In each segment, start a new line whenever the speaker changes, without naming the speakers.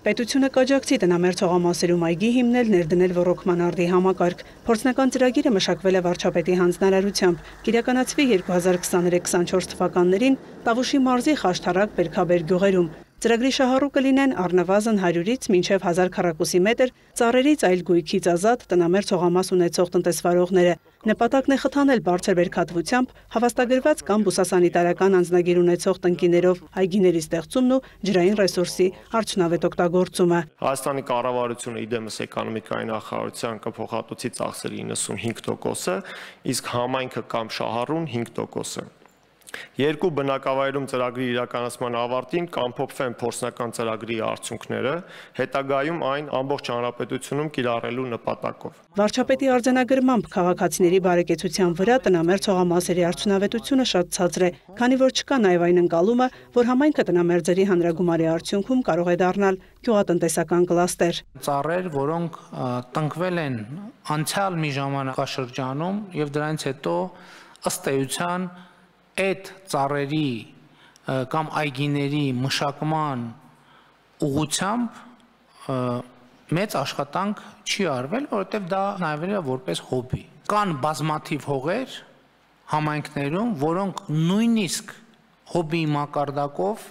Պետությունը կաջակցի տնամերձ հողամասերում այգի հիմնել, ներդնել ոռոգման արդի համակարգ։ Փորձնական ծրագիրը մշակվել է վարչապետի հանձնարարությամբ։ Կիրականացվի 2023-24 թվականներին Տավուշի մարզի Խաշթարակ, Բերքաբեր գյուղերում։ Ծրագրի շահառու կլինեն առնվազն 100-ից մինչև 1000 քառակուսի մետր ծառերից այլ գույքից ազատ տնամերձ հողամաս ունեցող տնտեսվարողները։ Նպատակն է խթանել բարձր բերքատվությամբ հավաստագրված կամ բուսասանիտարական անձնագիր ունեցող տնկիներով այգիների ստեղծումն ու ջրային ռեսուրսի արդյունավետ օգտագործումը։
Հայաստանի կառավարությունը իդեմս էկոնոմիկայի նախարարության կփոխհատուցի ծախսերի 95%-ը, իսկ համայնքը կամ շահառուն 5%-ը։ Երկու բնակավայրում ծրագրի իրականացման ավարտին կամփոփվեն փորձնական ծրագրի արդյունքները, հետագայում այն ամբողջ հանրապետությունում կիրառելու նպատակով։
Վարչապետի արձանագրմամբ քաղաքացիների բարեկեցության վրա տնամերձ հողամասերի արդյունավետությունը շատ ցածր է, քանի որ չկա նաև այն ընկալումը, որ համայնքը տնամերձերի հանրագումարի արդյունքում կարող է դառնալ գյուղատնտեսական կլաստեր։
Ծառեր, որոնք տնկվել են անցյալ մի ժամանակաշրջանում եւ դրանից հետո ըստ էության այդ ծառերի կամ այգիների մշակման ուղղությամբ մեծ աշխատանք չի արվել, որովհետև դա նայվել է որպես հոբբի։ Կան բազմաթիվ հողեր համայնքներում, որոնք նույնիսկ հոբբի մակարդակով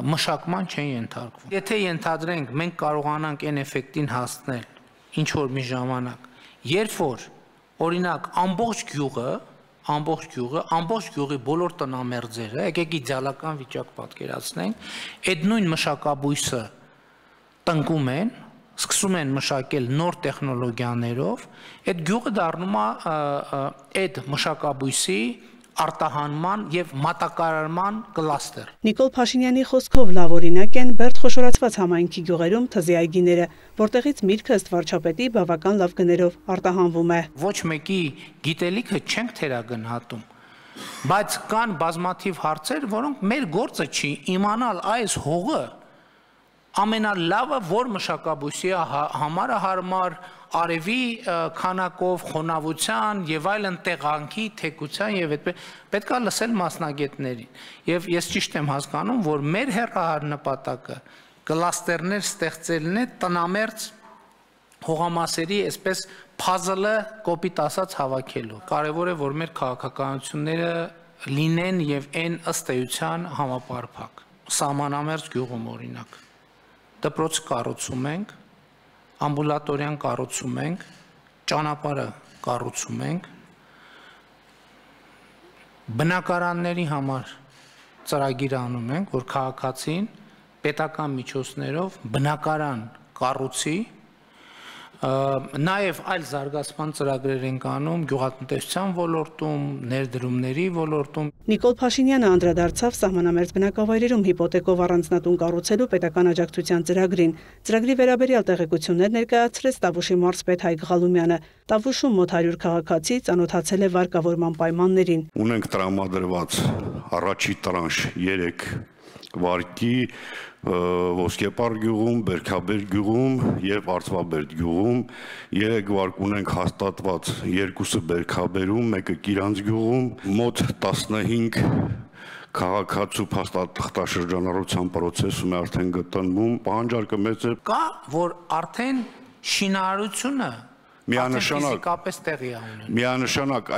մշակման չեն ենթարկվում։ Եթե ենթադրենք, մենք կարողանանք այն էֆեկտին հասնել ինչ որ մի ժամանակ, երբ որ օրինակ ամբողջ գյուղի բոլոր տնամերձերը, եկեք իդեալական վիճակ պատկերացնենք, այդ նույն մշակաբույսը տնկում են, սկսում են մշակել նոր տեխնոլոգիաներով, այդ գյուղը դառնում է այդ մշակաբույսի արտահանման եւ մատակարարման կլաստեր։
Նիկոլ Փաշինյանի խոսքով լավ օրինակ են Բերդ խոշորացված համայնքի գյուղերում թզի այգիները, որտեղից միրգը ըստ վարչապետի բավական լավ գներով արտահանվում է։
Ոչ մեկի գիտելիքը չենք թերագնահատում, բայց կան բազմաթիվ հարցեր, որոնք մեր գործը չի իմանալ այս հողը ամենալավը որ մշակաբույսի համար հարմար արևի քանակով, խոնավության եւ այլն տեղանքի, թեկության եւ այդպես պետք է լսել մասնագետներին։ Եվ ես ճիշտ եմ հասկանում, որ մեր հեռահար նպատակը կլաստերներ ստեղծելն է տնամերձ հողամասերի այսպես փազլը կոպիտ ասած հավաքելու։ Կարևոր է, որ մեր քաղաքականությունները լինեն եւ այն ըստ էության համապարփակ։ Սահմանամերձ գյուղում օրինակ դպրոց կառուցում ենք, ամբուլատորիան կառուցում ենք, ճանապարհը կառուցում ենք, բնակարանների համար ծրագիր անում ենք, որ քաղաքացին պետական միջոցներով բնակարան կառուցի, նաև այլ զարգացման ծրագրեր ենք անում գյուղատնտեսության ոլորտում, ներդրումների ոլորտում։
Նիկոլ Փաշինյանը անդրադարձավ սահմանամերձ բնակավայրերում հիպոթեկով առանձնատուն կառուցելու պետական աջակցության ծրագրին։ Ծրագրի վերաբերյալ տեղեկություններ ներկայացրեց Տավուշի մարզպետ Հայկ Ղալումյանը։ Տավուշում մոտ 100 քաղաքացի ծանոթացել է վարկավորման պայմաններին։
Ունենք տրամադրված առաջի տրանշ 3 վարկի Ոսկեպար գյուղում, Բերքաբեր գյուղում եւ Արծվաբերդ գյուղում, 3 վարկ ունենք հաստատված, 2-ը Բերքաբերում, 1-ը Կիրանց գյուղում, մոտ 15 քաղաքացու փաստաթղթաշրջանառության process-ում է արդեն գտնվում, պահանջարկը մեծ է։
Կա, որ արդեն շինարարությունը
Միանշանակ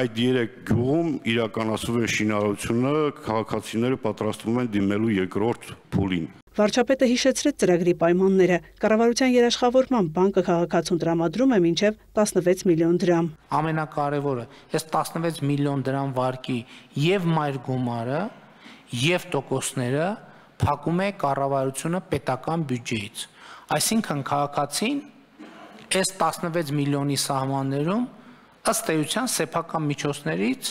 այդ 3 գյուղում իրականացվում է շինարարությունը, քաղաքացիները պատրաստվում են դիմելու երկրորդ փուլին։
Վարչապետը հիշեցրեց ծրագրի պայմանները։ Կառավարության երաշխավորմամբ բանկը քաղաքացուն տրամադրում է մինչև 16 միլիոն դրամ։
Ամենակարևորը, այս 16 միլիոն դրամ վարկի եւ մայր գումարը եւ տոկոսները փակում է կառավարությունը պետական բյուջեից։ Այսինքն քաղաքացին այս 16 միլիոնի սահմաններում ըստ էության սեփական միջոցներից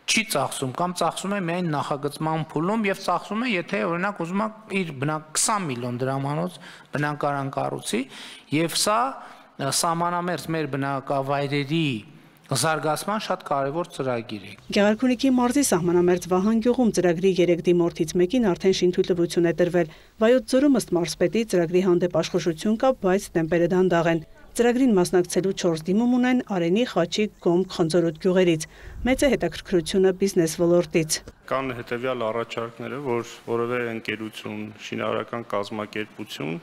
չի ծախսում կամ ծախսում է միայն նախագծման փուլում եւ ծախսում է, եթե օրինակ ուզում է իր 20 միլիոն դրամանոց բնակարան կառուցի եւ սա սահմանամերձ մեր բնակավայրերի զարգացման շատ կարևոր ծրագիր է։
Գեղարքունիքի մարզի սահմանամերձ Վահան գյուղում ծրագրի 3 դիմորդից մեկին արդեն շինթույլտվություն է տրվել։ Վայոց ձորում ըստ մարզպետի ծրագրի հանդեպ աշխուժություն կա, բայց տեմպերը դանդաղ են։ Ծրագրին մասնակցելու 4 դիմում ունեն Արենի, Խաչիկ, Գոմք, Խնձորոտ գյուղերից։ Մեծ է հետաքրքրությունը բիզնես ոլորտից։
Կան հետևյալ առաջարկները, որ որևէ ընկերություն, շինարարական կազմակերպություն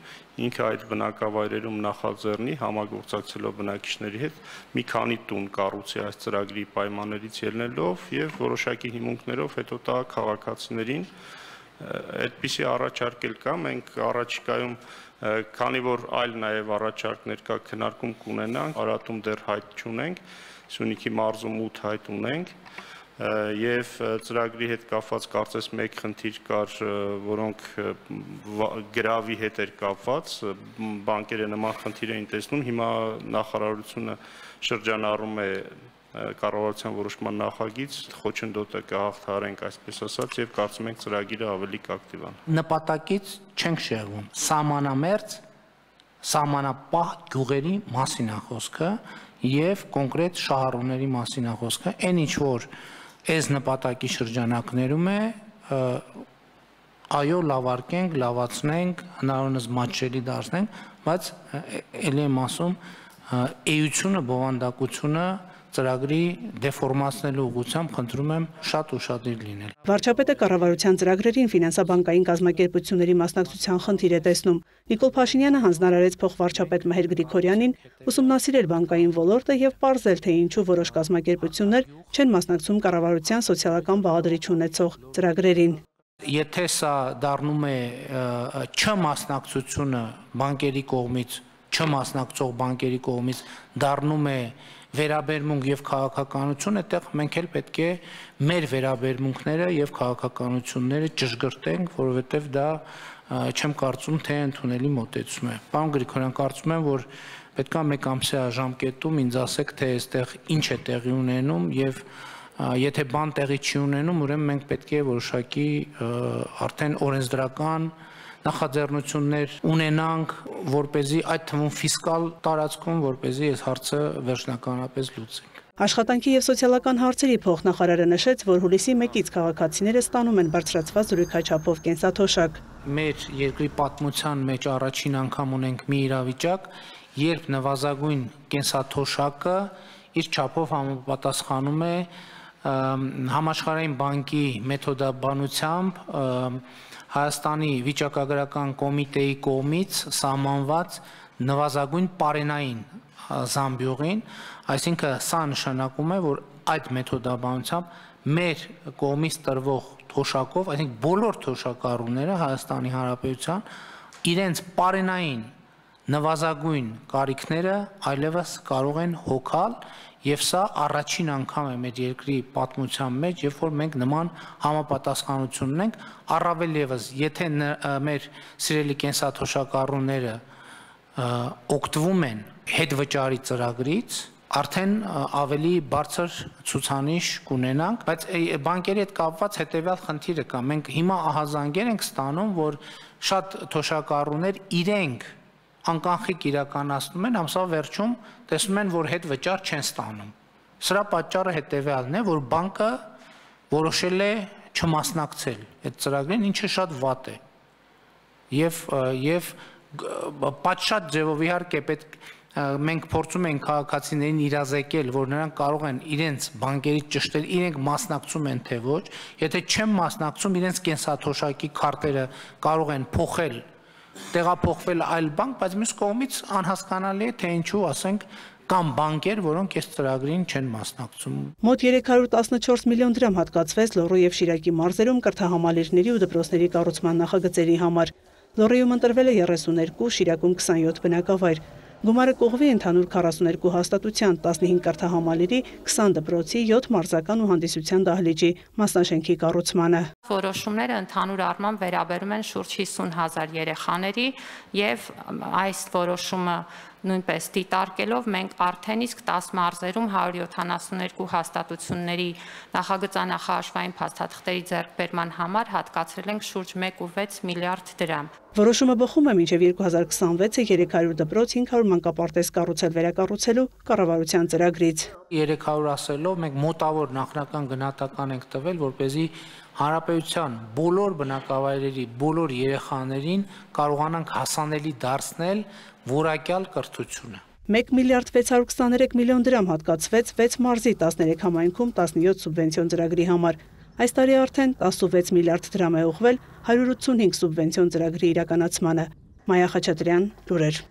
ինքը այդ բնակավայրերում նախաձեռնի համագործակցելով բնակիչների հետ մի քանի տուն կառուցի այս ծրագրի պայմաններից ելնելով եւ որոշակի հիմունքներով հետո տա քաղաքացիներին այդպիսի առաջարկ էլ կա, մենք առաջիկայում քանի որ այլ նաև առաջարկներ կա քննարկում կունենանք, Արատում դեռ հայտ չունենք, Սյունիքի մարզում 8 հայտ ունենք եւ ծրագրի հետ կապված կարծես մեկ խնդիր կար, որոնք գրավի հետ էր կապված, բանկերը նման խնդիր էին տեսնում, հիմա նախարարությունը շրջանառում է կառավարության որոշման նախագիծ, խոչընդոտը կհաղթահարենք, այսպես ասած, եւ կարծում ենք ծրագիրը ավելի կակտիվանա։
Նպատակից չենք շեղվում։ Սահմանամերձ, սահմանապահ գյուղերի մասին է խոսքը եւ կոնկրետ շահառուների մասին է խոսքը։ Այն ինչ որ այս նպատակի շրջանակներում է, այո, լավարկենք, լավացնենք, հնարավորինս մատչելի դարձնենք, բայց ելի եմ ասում, էությունը, բովանդակությունը ծրագրի դեֆորմացնելու ուղղությամբ խնդրում եմ շատ ուշադիր լինել։
Վարչապետը կառավարության ծրագրերին ֆինանսաբանկային կազմակերպությունների մասնակցության խնդիր է տեսնում։ Նիկոլ Փաշինյանը հանձնարարեց փոխվարչապետ Մհեր Գրիգորյանին ուսումնասիրել բանկային ոլորտը եւ պարզել, թե ինչու որոշ կազմակերպություններ չեն մասնակցում կառավարության սոցիալական բաղադրիչ ունեցող ծրագրերին։
Եթե սա դառնում է չմասնակցությունը բանկերի կողմից, չմասնակցող բանկերի կողմից դառնում է վերաբերմունք եւ քաղաքականություն, այդտեղ մենք էլ պետք է մեր վերաբերմունքները եւ քաղաքականությունները ճշգրտենք, որովհետեւ դա չեմ կարծում, թե ընդունելի մոտեցում է։ Պարոն Գրիգորյան, կարծում եմ, որ պետք է մեկ ամսյա ժամկետում ինձ ասեք, թե այստեղ ինչ է տեղի ունենում եւ եթե բան տեղի չի ունենում, ուրեմն մենք պետք է որոշակի արդեն օրենսդրական նախաձեռնություններ ունենանք, որպեսզի այդ թվում ֆիսկալ տարածքում, որպեսզի այս հարցը վերջնականապես լուծենք։
Աշխատանքի եւ սոցիալական հարցերի փոխնախարարը նշեց, որ հուլիսի 1-ից քաղաքացիները ստանում են բարձրացված զրույքաչափով կենսաթոշակ։
Մեր երկրի պատմության մեջ առաջին անգամ ունենք մի իրավիճակ, երբ նվազագույն կենսաթոշակը իր չափով համապատասխանում է համաշխարհային բանկի մեթոդաբանությամբ Հայաստանի վիճակագրական կոմիտեի կողմից սահմանված նվազագույն պարենային զամբյուղին, այսինքն սա նշանակում է, որ այդ մեթոդաբանությամբ մեր կողմից տրվող թոշակով, այսինքն բոլոր թոշակառուները Հայաստանի Հանրապետության իրենց պարենային նվազագույն կարիքները այլևս կարող են հոգալ Եվ սա առաջին անգամ է մեր երկրի պատմության մեջ, երբ որ մենք նման համապատասխանություն ունենք, առավել ևս, եթե մեր սիրելի կենսաթոշակառուները օգտվում են հետվճարի ծրագրից, արդեն ավելի բարձր ցուցանիշ կունենանք, բայց բանկերի հետ կապված հետևյալ խնդիրը կա։ Մենք հիմա ահազանգեր ենք ստանում, որ շատ թոշակառուներ իրենք անկանխիկ իրականացնում են, ամսվա վերջում տեսնում են, որ հետ վճար չեն ստանում։ Սրա պատճառը հետևյալն է, որ բանկը որոշել է չմասնակցել այդ ծրագրին, ինչը շատ վատ է։ Եվ պատշաճ ձևով իհարկե պետք մենք փորձում ենք քաղաքացիներին իրազեկել, որ նրանք կարող են իրենց բանկերից ճշտել, իրենք մասնակցում են թե ոչ, եթե չեն մասնակցում, իրենց կենսաթոշակի քարտերը կարող են փոխել տեղափոխվել այլ բանկ, բայց մյուս կողմից անհասկանալի է, թե ինչու, ասենք, կամ բանկեր, որոնք այս ծրագրին չեն մասնակցում։
Մոտ 314 միլիոն դրամ հատկացվեց Լոռու եւ Շիրակի մարզերում կրթահամալիրների ու դպրոցների կառուցման նախագծերի համար։ Լոռիում ընտրվել է 32, Շիրակում 27 բնակավայր։ Գումարը կողմի ընդհանուր 42 հաստատության, 15 կրթահամալիրի, 20 դպրոցի, 7 մարզական ու հանդիսության դահլիճի մասնաշենքի կառուցմանը։
Որոշումները ընդհանուր առմամբ վերաբերում են շուրջ 50,000 երեխաների եւ այս որոշումը նույնպես դիտարկելով մենք արդեն իսկ 10 մարզերում 172 հաստատությունների նախագծանախաշվային փաստաթղթերի ձեռքբերման համար հատկացրել ենք շուրջ 1.6 միլիարդ դրամ։
Որոշումը բխում է մինչև 2026-ը 300 դպրոց 500 մանկապարտեզ կառուցել վերակառուցելու կառավարության ծրագրից։
300 ասելով մենք մոտավոր նախնական գնահատական ենք տվել, որպեսզի հանրապետության բոլոր բնակավայրերի բոլոր երեխաներին կարողանանք հասանելի դարձնել որակյալ կրթությունը։
1 միլիարդ 623 միլիոն դրամ հատկացվեց 6 մարզի 13 համայնքում 17 սուբվենցիոն ծրագրի համար։ Այս տարի արդեն 16 միլիարդ դրամ է ուղղվել 185 սուբվենցիոն ծրագրի իրականացմանը։ Մայա Խաչատրյան, լուրեր։